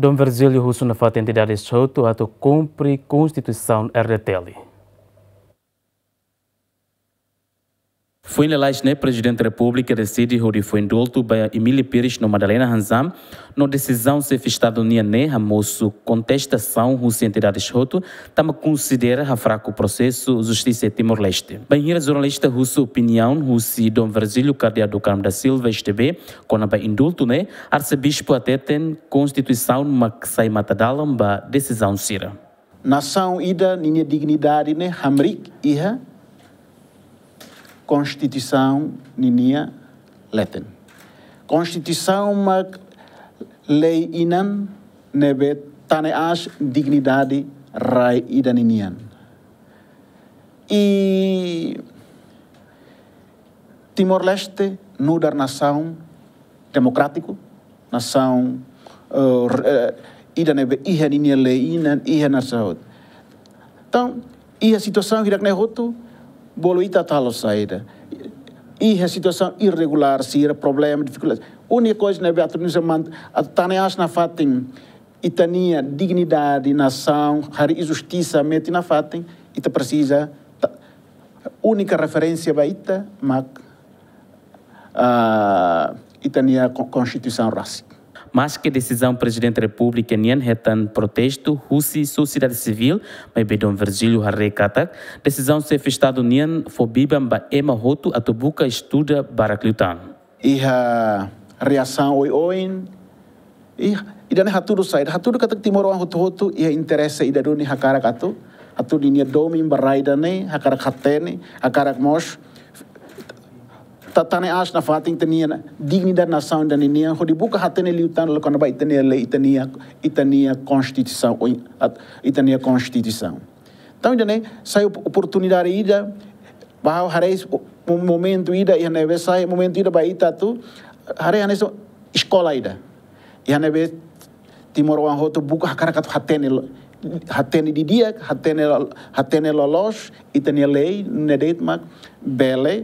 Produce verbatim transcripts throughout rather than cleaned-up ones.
Dom Virgílio husu nafatin entidades hotu atu kumpre Konstituisaun R D T L. Foin lalais ne'e, Prezidente Repúblika deside hodi fó indultu ba Emília Pires no Madalena Randzan, no desizaun Xefe Estadu nian ne'e hamosu kontestasaun husi entidades hotu, tanba konsidera hafraku prosesu justisa Timor-Leste. Bainhira jornalista husu opiniaun husi Dom Virgílio Cardeal do Carmo da Silva, S T B, kona-ba indultu ne'e, Arsebispu hateten Konstituisaun mak sai matadalan ba desizaun sira. Nasaun ida ninia dignidade ne'e hamriik iha Konstituisaun ninia leten. Konstituisaun mak lei inan ne'ebé tane aas dignidade rai ida ninian. I Timor-Leste nu'udar nasaun demokrátiku, nasaun, eh, r-, eh, ida ne'ebé iha ninia lei inan, iha nasaun. Entaun, iha situasaun hirak-ne'e hotu, bolu ita atu halo saida. Iha situasaun irregulár sira, problema, difikuldade. Únika koiza ne'ebé atu nusa man-, atu tane aas nafatin ita-nia dignidade nasaun, harii justisa metin nafatin, ita presiza ta-, únika referénsia ba ita mak, ah, ita-nia ko-, Konstituisaun rasik. Maske desizaun Prezidente Repúblika nian hetan protestu husi sosiedade sivíl, maibé Dom Virgílio haree katak desizaun Xefe Estadu nian fó biban ba ema hotu atu buka estuda barak liután. Iha reasaun oioin, i ida-ne'e hatudu saida, hatudu katak timoroan hotu-hotu iha interese ida duni hakarak atu, atu ninia domin ba rai ida-ne'e, hakarak hatene, hakarak mós ta-, tane aas nafatin ita-nia dignidade nasaun ida ninian, hodi buka hatene liután kona-ba ita-nia lei, ita-nia, ita-nia Konstituisaun, oi, at-, ita-nia Konstituisaun. Entaun, ida-ne'e sai op-, oportunidade ida, ba ha'u haree mo-, momentu ida, iha ne'ebé sai momentu ida ba ita atu, haree hanesan eskola ida. Iha ne'ebé timoroan hotu buka hakarak atu hatene lo-, hatene didi'ak, hatene lo-, hatene loloos, ita-nia lei, ne'e de'it mak bele,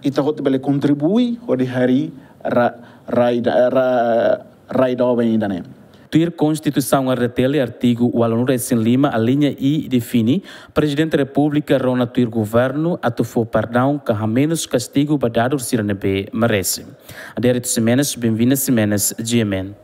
ita hotu bele kontribui, hodi harii ra-, rai da-, ra-, rai doben ida-ne'e. Tuir Konstituisaun R D T L artigu ualunulu-resin-lima, alínea I define, Prezidente Repúblika rona tuir governu atu fó perdaun ka hamenus kastigu ba dadur sira ne'ebé merese. Adérito Ximenes, Benvinda Ximenes, G M N.